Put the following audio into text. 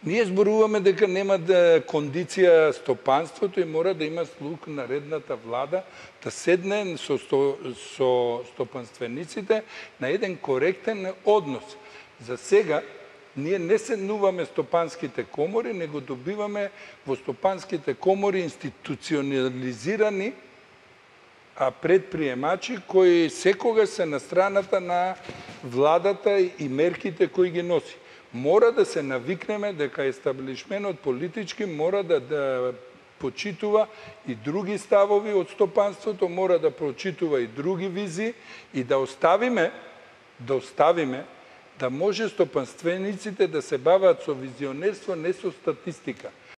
Ние зборуваме дека нема кондиција стопанството и мора да има слух наредната влада да седне со стопанствениците на еден коректен однос. За сега ние не седнуваме стопанските комори, него добиваме во стопанските комори институционализирани предприемачи кои секогаш се на страната на владата и мерките кои ги носи. Мора да се навикнеме дека естаблишменот политички мора да почитува и други ставови од стопанството, мора да прочитува и други визии и да оставиме да може стопанствениците да се бават со визионерство, не со статистика.